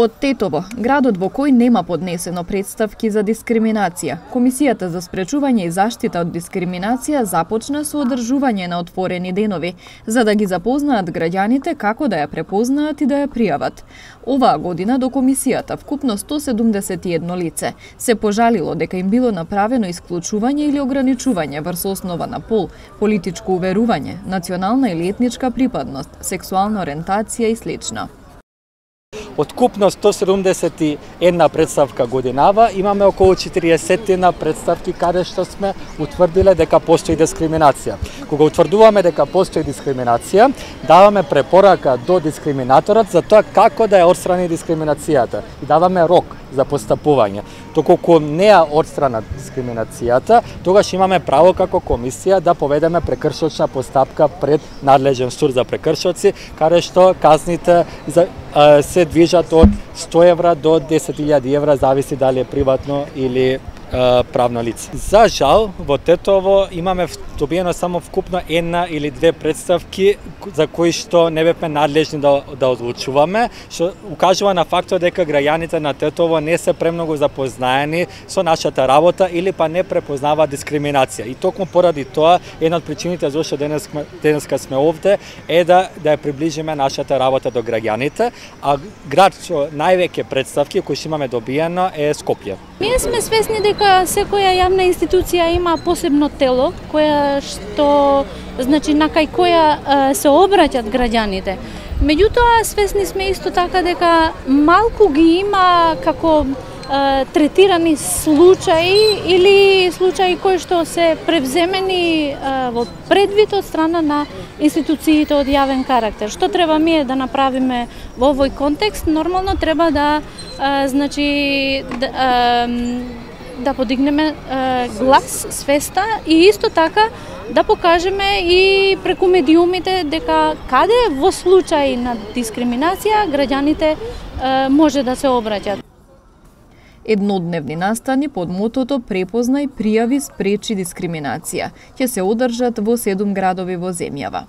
Од Тетово, градот во кој нема поднесено претставки за дискриминација, Комисијата за спречување и заштита од дискриминација започна со одржување на отворени денови, за да ги запознаат граѓаните како да ја препознаат и да ја пријават. Оваа година до Комисијата вкупно 171 лице се пожалило дека им било направено исклучување или ограничување врз основа на пол, политичко уверување, национална или етничка припадност, сексуална ориентација и слично. Од купно 171 представка годинава имаме околу 40 представки каде што сме утврдиле дека постои дискриминација. Кога утврдуваме дека постои дискриминација, даваме препорака до дискриминаторот за тоа како да ја отстрани дискриминацијата и даваме рок за постапување. Доколку не ја отстрана дискриминацијата, тогаш имаме право како комисија да поведеме прекршочна постапка пред надлежен суд за прекршоци, каде што казните се движат од 100 евра до 10.000 евра, зависи дали е приватно или правно лице. За жал, во Тетово имаме добиено само вкупно една или две представки за кои што не бевме надлежни да одлучуваме, што укажува на фактот дека граѓаните на Тетово не се премногу запознаени со нашата работа или па не препознаваат дискриминација. И токму поради тоа, една од причините зашто денеска сме овде е да ја приближиме нашата работа до граѓаните, а град со највеќе представки кои што имаме добиено е Скопје. Ние сме свесни дека секоја јавна институција има посебно тело, која што, значи, на кај која се обраќаат граѓаните. Меѓутоа, свесни сме исто така дека малку ги има како третирани случаи или случаи кои што се превземени во предвид од страна на институциите од јавен карактер. Што треба ние да направиме во овој контекст? Нормално треба да значи да подигнеме глас, свеста и исто така да покажеме и преку медиумите дека каде во случај на дискриминација граѓаните може да се обраќаат. Еднодневни настани под мотото "Препознај, пријави, спречи дискриминација" ќе се одржат во 7 градови во земјава.